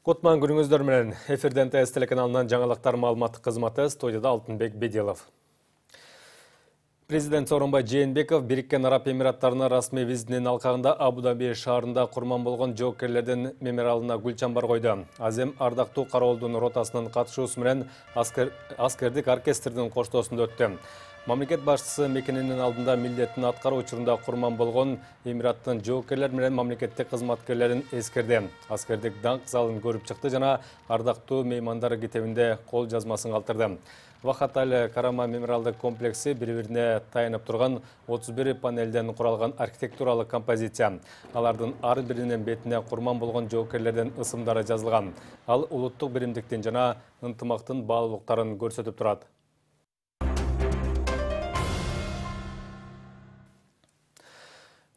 Кутман күнүңүздөр менен эфирден ТС телеканалынан жаңалыктар маалыматтык кызматы, студияда Алтынбек Беделов. Президент Сооронбай Жээнбеков Бириккен Араб Эмираттарына расмий визитинин алкагында Абу-Даби шаарында курман болгон жоокерлердин мемориалына гүл чамбар койду. Азем ардактуу кароолдун ротасынын катышуусу менен аскердик оркестрдин коштоосунда өттү. Мамлекет башчысы мекенинин алдында милдетин аткаруу учурунда курман болгон Эмираттын жоокерлер менен мамлекеттик кызматкерлерин эскерди. Аскердик даңк залын көрүп чыкты жана ардактуу меймандар китебинде кол жазмасын калтырды. Вахат Аль-Карама мемориалдык комплекси бири-бирине таянып турган 31 панелден куралган архитектуралык композиция. Алардын ар биринин бетине курман болгон жоокерлердин ысымдары жазылган. Ал улуттук биримдиктин жана ынтымактын баалуулуктарын көрсөтүп турат.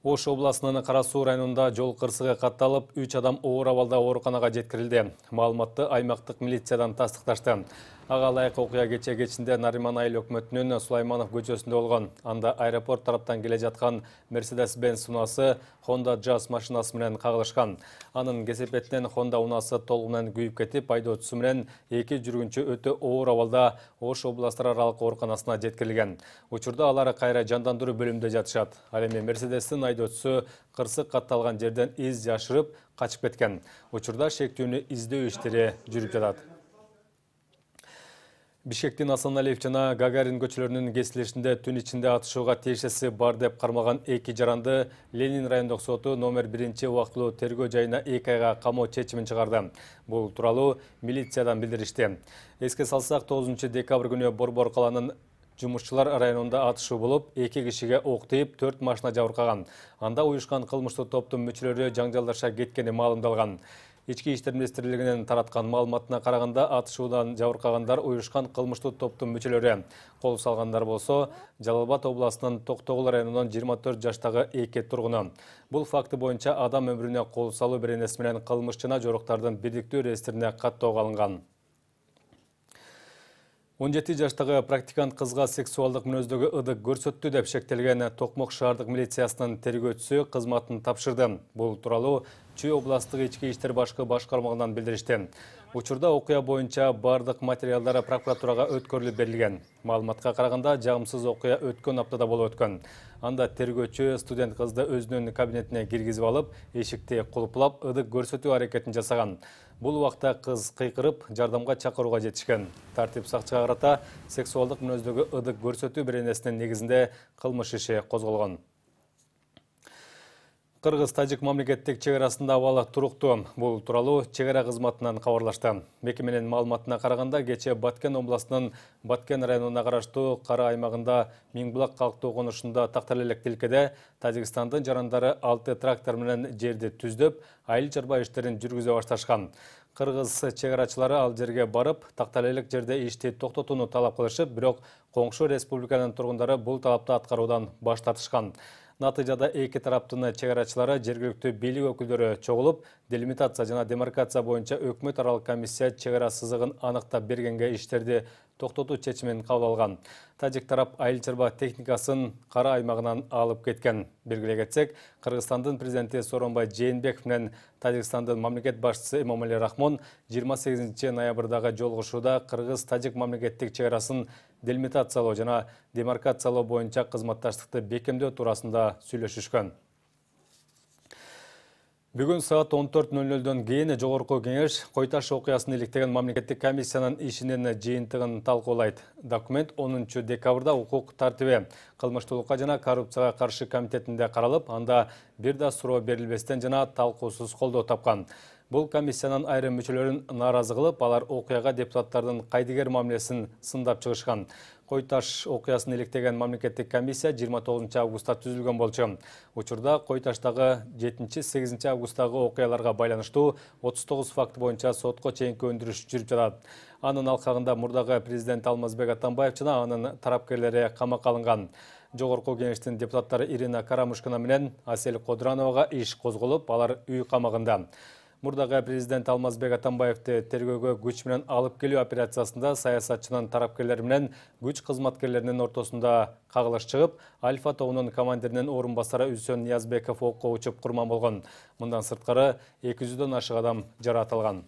Ош областынын Кара Суу районунда жол кырсыгы катталып, 3 адам оор абалда ооруканага жеткирилди. Маалыматты аймактык милициядан тастыкташты. Ага ылайык окуя кечинде Нариман Айыл өкмөтүнүн Сулайманов көчөсүндө болгон. Анда аэропорт тараптан келе жаткан Mercedes-Benz унаасы Honda Jazz машинасы менен кагылышкан. Анын кесепетинен Honda унаасы толугу менен күйүп кетип, айдоочусу менен 2 жүргүнчү өтө оор абалда Ош областар аралык ооруканасына жеткирилген. Учурда алар кайра жандандыруу бөлүмүндө жатышат. Ал эми Mercedes-тин айдоочусу кырсык катталган жерден из жашырып качып кеткен. Учурда шектүүнү издөө иштери жүрүп жатат. Бишкектин Асаналиев жана Гагарин көчөлөрүнүн кесилишинде түн ичинде атышууга тиешеси бар деп кармаган 2 жаранды Ленин райондук соту номер 1 убактылуу тергөө жайына 2 айга камоо чечимин чыгарды. Бул тууралуу милициядан билдиришти. Эске салсак, 9 декабрь күнү Борбор каланын Жумушчулар районунда атышуу болуп, 2 кишиге ок тийип, 4 машина жабыркаган. Анда уюшкан кылмыштуу топтун мүчөлөрү жаңжалдаша кеткени маалымдалган. Ички иштер министрлигинин тараткан маалыматына караганда, атышуудан жабыркагандар уюшкан кылмыштуу топтун мүчөлөрү. Кол салгандар болсо, Жалал-Абад областынын Токтогул районунун 24 жаштагы 2 тургуну. Бул факты боюнча адам өмүрүнө кол салуу беренеси менен кылмыш жана жоруктардын бирдиктүү реестрине каттоого алынган. 17 жаштагы практикант кызга сексуалдык мүнөздөгү ыдык көрсөттү деп шектелген Токмок шаардык милициясынын тергөөчүсү кызматын тапшырды. Бул тууралуу Чүй областык ички иштер башкы башкармагынан билдиришти. Учурда окуя боюнча бардык материалдар прокуратурага өткөрүлүп берилген. Маалыматка караганда, жагымсыз окуя өткөн аптада болуп өткөн. Анда тергөөчү студент кызды өзүнүн кабинетине киргизип алып, эшикти кулуплап, ыдык көрсөтүү аракетин жасаган. Бул убакта кыз кыйкырып, жардамга чакырууга жетишкен. Тартип сакчыга карата сексуалдык мүнөздөгү ыдык көрсөтүү беренесинин негизинде кылмыш иши козголгон. Кыргыз-Тажик мамлекеттик чек арасында абалы туруктуу. Бул тууралуу чек ара кызматынан кабарлашты. Мекеменин маалыматына караганда, кечээ Баткен областынын Баткен районуна караштуу Кара аймагында Миңбулак калктуу конушунда Такталелек тилкеде Тажикстандын жарандары 6 трактор менен жерди түздөп, айыл чарба иштерин жүргүзө башташкан. Кыргыз чек арачылары ал жерге барып, Такталелек жерде ишти токтотууну талап кылышып, бирок коңшу республиканын тургундары бул талапты аткаруудан баш тартышкан. Натыйжада эки тараптын чек арачылары жергиликтүү бийлик өкүлдөрү чогулуп, делимитация жана демаркация боюнча өкмөт аралык комиссия чек ара сызыгын аныктап бергенге иштерди токтотуу чечимин кабыл алган. Тажик тарап айыл чарба техникасын Кара аймагынан алып кеткен. Белгилей кетсек, Кыргызстандын президенти Сооронбай Жээнбеков менен Тажикстандын мамлекет башчысы Эмомали Рахмон 28 ноябрдагы жолугушууда Кыргыз-Тажик мамлекеттик чек арасын делимитациялоо жана демаркациялоо боюнча кызматташтыкты бекемдөө туурасында сүйлөшүшкөн. Бүгүн саат 14:00дөн кийин Жогорку кеңеш Кой-Таш окуясын иликтеген мамлекеттик комиссиянын ишинин жыйынтыгын талкуулайт. Документ 10 декабрда укук тартиби, кылмыштуулукка жана коррупцияга каршы комитетинде каралып, анда бир да суроо берилбестен жана талкуусуз колдоо тапкан. Бул комиссиянын айрым мүчөлөрүн нааразы кылып, алар окуяга депутаттардын кайдыгер мамилесин сындап чыгышкан. Кой-Таш окуясын иликтеген мамлекеттик комиссия 29 августта түзүлгөн болчу. Учурда Кой-Таштагы 7-8 августтагы окуяларга байланыштуу 39 факт боюнча сотко чейинки өндүрүш жүрүп жатат. Анын алкагында мурдагы президент Алмазбек Атамбаев жана анын тарапкерлери камакка алынган. Жогорку кеңештин депутаттары Ирина Карамушкина менен Асель Кодырановага иш козголуп, алар үй камагында. Мурдагы президент Алмазбек Атамбаевди тергөөгө күч менен алып келүү операциясында саясатчынын тарапкерлери менен күч кызматкерлеринин ортосунда кагылыш чыгып, Альфа тобунун командиринин орун басары Үсөн Ниязбеков окко учуп курман болгон. Мындан сырткары 200дөн ашык адам жаракат алган.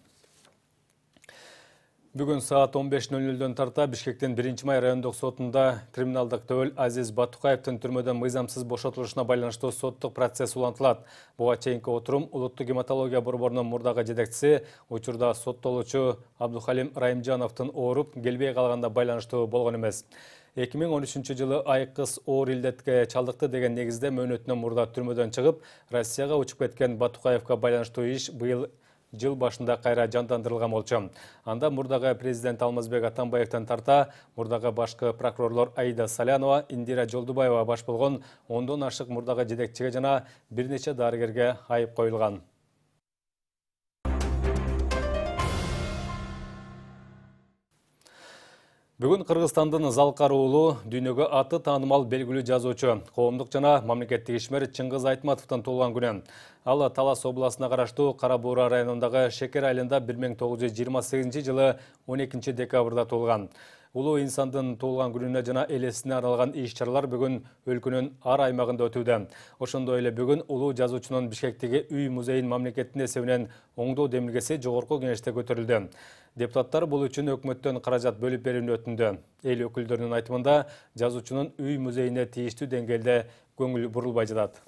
Бүгүн саат 15:00 тарта Бишкектин 1-май райондук сотунда криминалдык төбөл Азиз Батукаевдин түрмөдөн мыйзамсыз бошотулушуна байланыштуу соттук процесс улантылат. Буга чейинки отурум Улуттук гематология борборунун мурдагы жетекчиси, учурда соттолуучу Абдухалим Райымжановдун ооруп келбей калганына байланыштуу болгон эмес. 2013-жылы айкыз оор илдетке чалдыкты деген негизде мөөнөтүнөн мурда түрмөдөн чыгып, Россияга учуп кеткен Батукаевга байланыштуу иш быйыл жыл башында кайра жандандырылган болчу. Анда мурдагы президент Алмазбек Атамбаевден тарта, мурдагы башкы прокурорлор Аида Салянова, Индира Жолдубаева баш болгон 10дон ашык мурдагы жетекчиге жана бир нече дарыгерге айып коюлган. Бүгүн Кыргызстандын Залкар уулу дүйнөгө аты таанымал белгилүү жазуучу, коомдук жана мамлекеттик ишмер Чыңгыз Айтматовдун туулган күнү. Ал Талас областына караштуу Кара Буура районундагы Шекер айылында 1928 жылы 12 декабрда туулган. Улуу инсандын туулган күнүнө жана элесине арналган иш-чаралар бүгүн өлкөнүн ар аймагында өтүүдө. Ошондой эле бүгүн улуу жазуучунун Бишкектеги үй музейин мамлекеттин эсебинен оңдоо демилгеси жогорку кеңеште көтөрүлдү. Депутаттар бул үчүн өкмөттөн каражат бөлүп берүүнү өтүндү. Эл өкүлдөрүнүн айтымында жазуучунун үй музейине тийиштүү деңгээлде көңүл бурулбай жатат.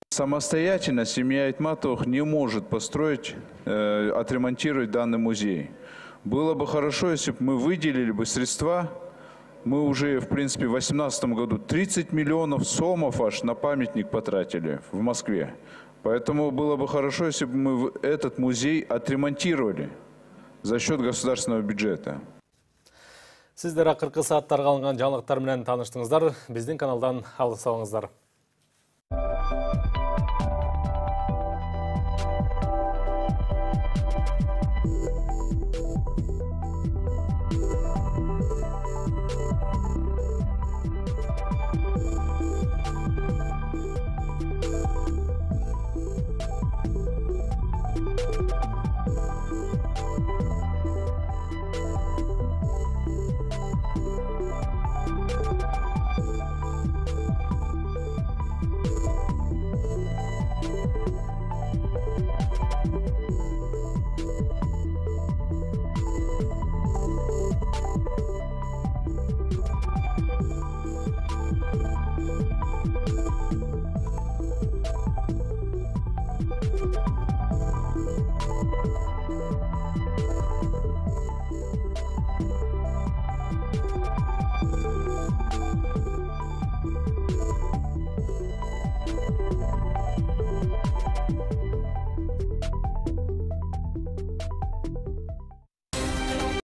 Самостоятельно семья Айтматовых не может построить, отремонтировать данный музей. Было бы хорошо, если бы мы выделили бы средства. Мы уже, в принципе, в 2018 году 30 миллионов сомов аж на памятник потратили в Москве. Поэтому было бы хорошо, если бы мы этот музей отремонтировали за счет государственного бюджета. Сиздер акыркы сааттарга алынган жаңылыктар менен тааныштыңыздар. Биздин каналдан алыс салыңыздар.